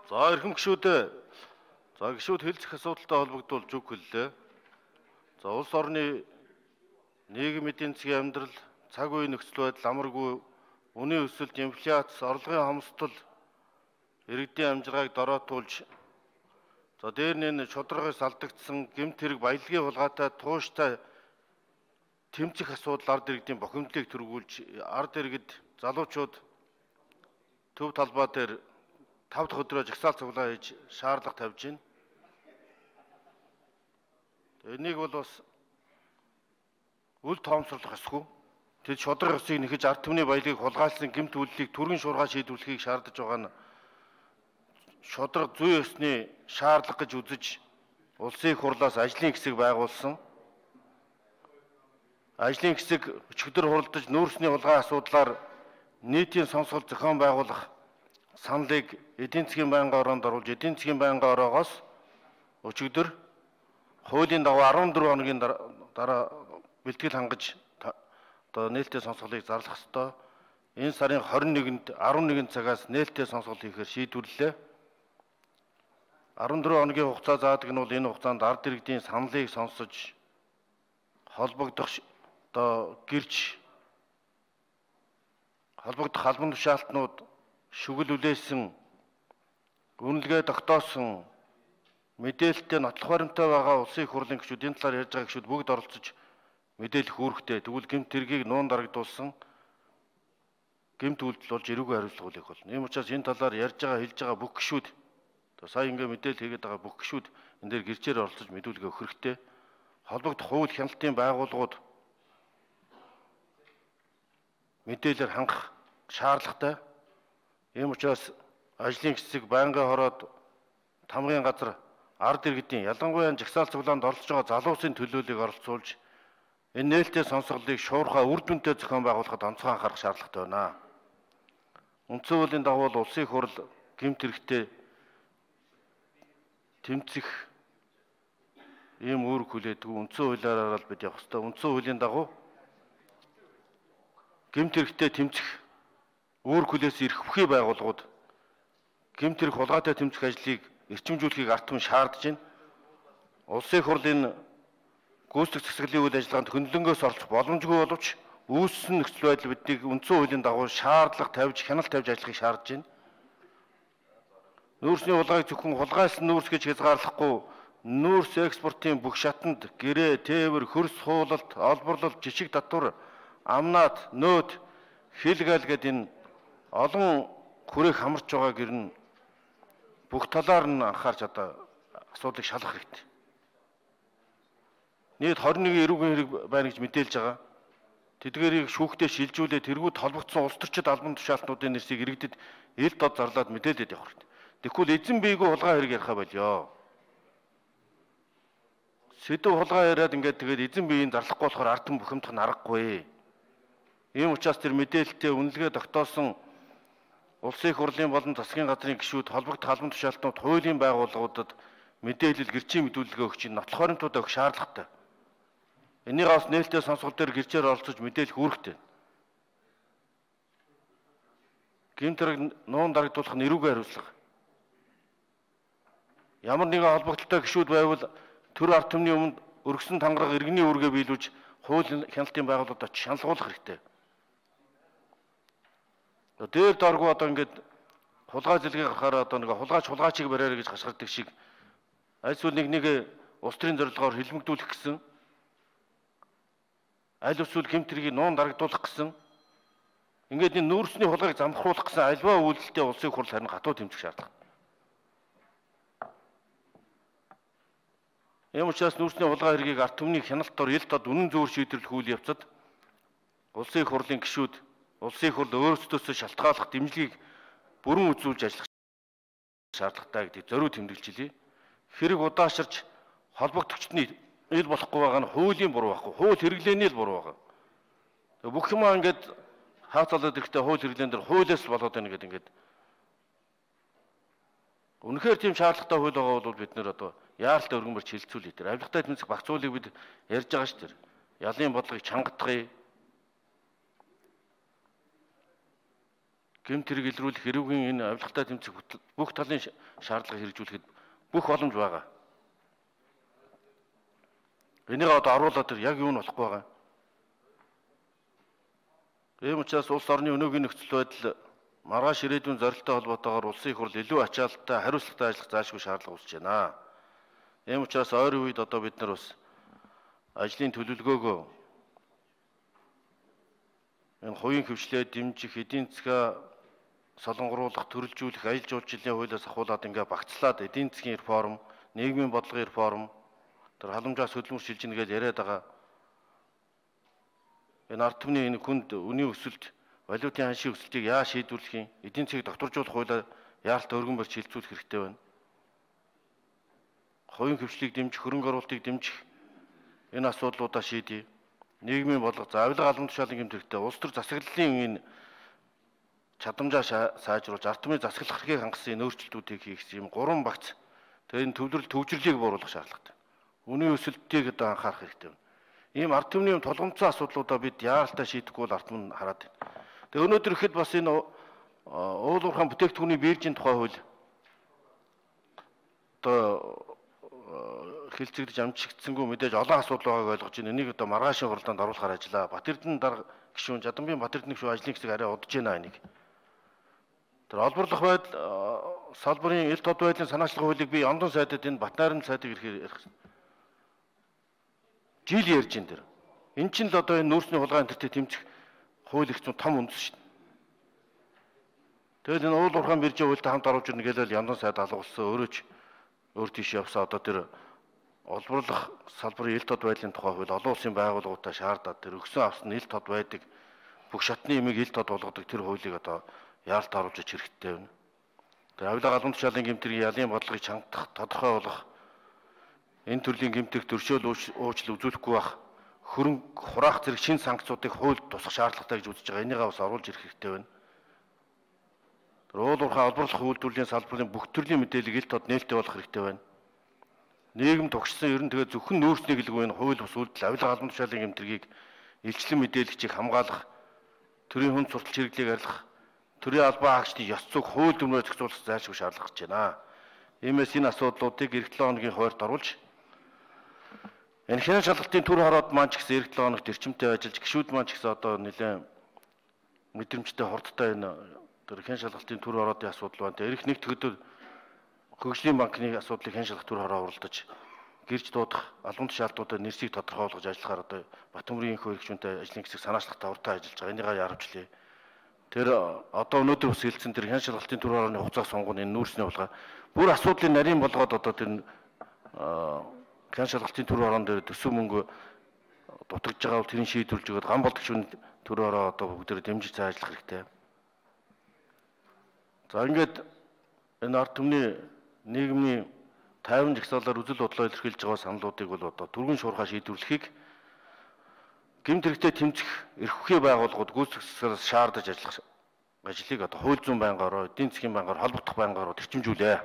За эрхэм гишүүдээ гишүүд хэлцэх асуудалтай холбогдуулж үг хэллээ. За улс орны нийгэм эдийн засгийн амьдрал, цаг үеийн нөхцөл байдал амаргүй, үнийн өсөлт, инфляц, орлогын хомсдол иргэдийн амжиргааг дороотуулж дээр нь шударгаас алдагдсан гэмт хэрэг баялагын хулгайтай тууштай тэмцэх асуудал ард иргэдийн бохимдлыг төргүүлж ард иргэд залуучууд төв талбай дээр 5 дахь өдрөө жагсаал цуглаа хийж шаардлага тавьж байна. Энийг бол бас үл тоомсорлох ёсгүй. Тэд шудраг ёсыг нэхэж ард түмний баялагийг хулгайлсан гэмт үйлдэлийг түргэн шуургай шийдвэрлэхийг шаардаж байгаа нь шудраг зүй ёсны шаардлага гэж үзэж улсын их хурлаас ажлын хэсэг байгуулсан. Ажлын хэсэг өчигдөр хуралдаж нүүрсний хулгай асуудлаар нийтийн сонсгол зохион байгуулах саналыг эдийн засгийн байнгын ороонд оруулж эдийн засгийн байнгын ороогоос өчигдөр хуулийн дагуу 14 хоногийн дараа бэлтгэл хангаж нээлттэй сонсголыг зарлах ёстой. Энэ сарын 21-нд 11 цагаас нээлттэй сонсгол хийхээр шийдвэрлэлээ. 14 хоногийн хугацаа заадаг нь бол энэ хугацаанд ард иргэдийн саналыг сонсож холбогдох гэрч холбогдох албан тушаалтнууд шүгэл үлээсэн үнэлгээ тогтоосон мэдээлэлтэй нотлох баримттай байгаа улсын их хурлын гишүүд энэ талаар ярьж байгаа гишүүд бүгд оролцож мэдээлэх үүрэгтэй. Тэгвэл гэмт хэргийг нуун дарагдуулсан гэмт үйлдэл болж эрүүгийн хариуцлага хүлээх болно. Ийм учраас энэ талаар ярьж байгаа хэлж байгаа бүх гишүүд сая ингээ мэдээлэл хийгээд байгаа бүх гишүүд энэ дээр гэрчээр оролцож мэдүүлгээ өгөх хэрэгтэй. Холбогдох хууль хяналтын байгууллагууд мэдээлэлээр хангах шаардлагатай. Ийм учраас ажлын хэсэг байнгын хороод тамгын газар ард иргэдийн ялангуяа жагсаал цуглаанд оролцож байгаа залуусын төлөөллийг оролцуулж энэ нээлттэй сонсголыг шуурхай үр дүнтэй зохион байгуулахад онцгой анхаарах шаардлагатай байна. Үндсэн хуулийн дагуу улсын их хурл гэмт хэрэгтээ тэмцэх ийм үүрэг хүлээдэг. Үндсэн хуулиараа л бид явах ёстой. Үндсэн хуулийн дагуу гэмт хэрэгтээ тэмцэх үүрэг хүлээсэн эрх бүхий байгууллагууд гэмт хэрэг хулгайтай тэмцэх ажлыг эрчимжүүлэхийг ард түмэн шаардж байна. Улсын их хурлын гүйцэтгэх засаглалын үйл ажиллагаанд хөндлөнгөөс оролцох боломжгүй боловч үүссэн нөхцөл байдал биднийг үндсэн хуулийн дагуу шаардлага тавьж хяналт тавьж ажиллахыг шаардж байна. Нүүрсний хулгайг зөвхөн хулгайлсан нүүрс гэж хязгаарлахгүй нүүрс экспортын бүх шатанд гэрээ, тээвэр, хөрс, хуулалт, олборлолт, жишг татвар, амнаад, нөөд, хилгал гэдэг энэ олон хүрээг хамарч байгаа гэр нь бүх талаар нь анхаарч асуудлыг шалгах хэрэгтэй. Нийт 21 эрүүгийн хэрэг байна гэж мэдээлж байгаа. Тэдгээрийг шүүхтээ шилжүүлээд тэргүүд холбогдсон улс төрчид албан тушаалтнуудын нэрсийг иргэдэд ил дод зарлаад мэдээлээд явах хэрэгтэй. Тэгэхгүй эзэн биегүй хулгай хэрэг ярих байлё. Сэдв хулгай яриад ингээд тэгээд эзэн биеийн зарлахгүй болохоор ард түмэн бухимдах нь аргагүй. Ийм учраас тэр мэдээлэлтэй үнэлгээ тогтоосон улсын их хурлын болон засгийн газрын гишүүд холбогдох албан тушаалтнууд хуулийн байгууллагуудад мэдээлэл гэрчийн мэдүүлгээ өгч нотлох баримтууд өгөх шаардлагатай. Энийг бас нээлттэй сонсгол дээр гэрчээр оролцож мэдээлэх үүрэгтэй. Гэмт хэрэг нуун дарагдуулах нь эрүүгийн хариуцлага. Ямар нэгэн холбогдолтой гишүүд байвал төр ард түмний өмнө өргөсөн тангараг иргэний үүргээ биелүүлж хууль хяналтын байгууллагад очиж шаналгуулах хэрэгтэй. Дээр доргоо ингээд хулгай зэлгээ гарахаар нэг хулгайчийг бариараа гэж гашгирдаг шиг аль эсвэл нэг улс төрийн зорилгоор хилмигдүүлэх гэсэн аль эсвэл гэмт хэргийг нуун дарагдуулах гэсэн ингээд энэ нүүрсний хулгайг замхруулах гэсэн альва үйлдэлтэй улсын хурл харин хатуу тэмцэх шаардлага. Ийм учраас нүүрсний хулгай хэргийг ард түмний хяналт дор ил дод үнэн зөвөр шийдвэрлэх үйл явцад улсын их хурлын гишүүд улсын их хурл өөрсдөөсөө шалтгааллах дэмжлэгийг бүрэн үзүүлж ажиллах шаардлагатай гэдгийг зориуд тэмдэглэжээ. Хэрэг удаашрч холбогдогчдын ил болохгүй байгаа нь хуулийн буруу байхгүй. Хууль хэрэглээний л буруу байгаа. Бүх юмаа ингээд хаацалаад ирэхдээ хууль хэрэглэн дээр хуулиас болоод байна гэдэг ингээд. Үнэхээр тийм шаардлагатай хууль байгаа бол бид нэр яаралтай өргөнбөрч хилцүүлээ. Тэр авилгатай тэмцэх багц хуулийг бид ярьж байгаа шүү дээ. Ялын бодлогыг чангадахыг гэмт хэрэг илрүүлэх эрүүгийн энэ авилгатай тэмцэх бүх талын шаардлагыг хэрэгжүүлэхэд бүх боломж байгаа. Энийг одоо оруулаад яг юу нь болохгүй байгаа. Ийм учраас улс орны өнөөгийн нөхцөл байдал маргааш ирээдүйн зорилттой холбоотойгоор улсын их хурл илүү ачаалттай хариуцлагатай ажиллах заашгүй шаардлага үүсэж байна. Ийм учраас ойрын үед одоо бид нар бас ажлын төлөвлөгөөгөө энэ хувийн хөвчлээ дэмжих, эдийн засгаа солонгоруулах, төрөлжүүлэх, аялал жуулчлалын хуулиас ахуулаад ингээ багцлаад эдийн засгийн реформ, нийгмийн бодлогын реформ, тэр халамжаас хөдөлмөр шилжинэ гэж яриад байгаа. Энэ ард түмний энэ хүнд үнийн өсөлт, валютын ханшийн өсөлтийг яаж шийдвэрлэх юм? Эдийн засгийг докторжуулах хуулиар яаралтай өргөн барьж хилцүүлэх хэрэгтэй байна. Хувийн хөвчлийг дэмжих, хөрөнгө оруулалтыг дэмжих энэ асуудлуудаа шийдье. Нийгмийн бодлого, авилга албан тушаалын гэмт хэрэгтэй. Улс төр засаглалын энэ чадамжаа сайжруулж, ард түмний засаглах эрхийг хангасан энэ өөрчлөлтүүдийг хийх юм 3 багц. Тэгээ энэ төвлөрөл төвжирлийг бууруулах шаардлагатай. Үнийн өсөлтийг одоо анхаарах хэрэгтэй байна. Ийм ард түмний тулгымцсан асуудлуудаа бид яаралтай шийдэхгүй бол ард түмэн хараад байна. Тэгээ өнөөдөр ихэд бас энэ уул уурхайн бүтээгдэхүүний биржийн тухай хууль одоо хэлцэгдэж амжигдсангүй мэдээж олон асуудал байгааг ойлгож байна. Энийг одоо маргаашийн хуралдаанд оруулахаар ажиллаа. Батэрдэн дарга гишүүн, Жадамбийн Батэрдэн гишүүн ажлын хэсэг арай удаж байна энийг. Тэр олборлох байдал салбарын ил тод байдлын санаачлах хуулийг би ондон сайдад энэ Батнайрын сайдыг ирэхээр жил ярьж ин тэр. Эн чинь л одоо энэ нүүрсний хулгай энтертэй тэмцэх хууль их том үндэс шүү дээ. Тэгэл энэ уул уурхайн биржийн хуультай хамт оруулж ирнэ гэлэл ондон сайд алгуулсан өөрөө ч өөр тийш явсаа одоо тэр олборлох салбарын ил тод байдлын тухай хууль олон улсын байгууллагуудаа шаардаад тэр өгсөн авсан ил тод байдаг бүх шатны юмыг ил тод болгодог тэр хуулийг одоо яаралт оруулж ич хэрэгтэй байна. Тэр авилга албан тушаалын гэмтрийн ялын бодлогыг чангах, тодорхой болгох, энэ төрлийн гэмтрэх төршөөл уучлал үзүүлэхгүй байх, хөрөнгө хураах зэрэг шин санкцуудыг хуульд тусах шаардлагатай гэж үзэж байгаа. Энийгээ бас оруулж ирэх хэрэгтэй байна. Тэр уул уурхай олборлох үйлдвэрлэлийн салбарын бүх төрлийн мэдээллийг ил тод нээлттэй болгох хэрэгтэй байна. Нийгэм тогтсон ер нь тэгээ зөвхөн нөөцнийг л гүйн хууль бус үйлдэл авилга албан тушаалын гэмтрийг илчлэн мэдээлэгчийг хамгаалах, төрийн хүнд сурталч хэрэглээг арилгах, төрийн албан хаагчдын ёс зүйг хууль дүрмээр зохицуулах зайлшгүй шаардлага гэж байна. Иймээс энэ асуудлуудыг эх 7 хоногийн хуваарьд оруулж энэ хянан шалгалтын төр хороод маань ч гэсэн эх 7 хоногт эрчимтэй ажиллаж гишүүд маань ч гэсэн одоо нэлээд мэдрэмжтэй хурдтай энэ тэр хянан шалгалтын төр хороодын асуудал байна. Эх нэгд өдөр Хөгжлийн банкны асуудлыг хянан шалгах төр хороо уралдаж гэрж дуудах албан тушаалтуудад нэрсийг тодорхойлгож ажиллахаар одоо Батөмрийн хөө хэрэгжүүнтэй ажлын хэсэг санаачлагтай уртаа ажиллаж байгаа. Энийгээ яарвчлээ. Тэр одоо өнөөдөр бас хэлсэн тэр хянан шалгалтын төр хорооны хугацаа сонгоно энэ нүүрсний булгаа бүр асуудлыг нарийн болгоод одоо тэр хянан шалгалтын төр хороонд дээр төсөв мөнгө дутагдж байгаа бол тэрийг шийдвэрлж өгöd ган болдог шүн төр хороо одоо бүгдээр дэмжиж цаажлах хэрэгтэй. За ингээд энэ ард түмний нийгмийн тайван жагсаалаар үзэл бодлоо илэрхийлж байгаа саналуудыг бол одоо түргэн шуурхаа шийдвэрлэхийг гэмт хэрэгтээ тэмцэх эрх хүчний байгууллагууд гүйцэтгсээс шаардаж ажиллах ажлыг одоо хууль зүйн байнгаараа эдийн засгийн байнгаараа холбогдох байнгаараа тэрчимжүүлээ.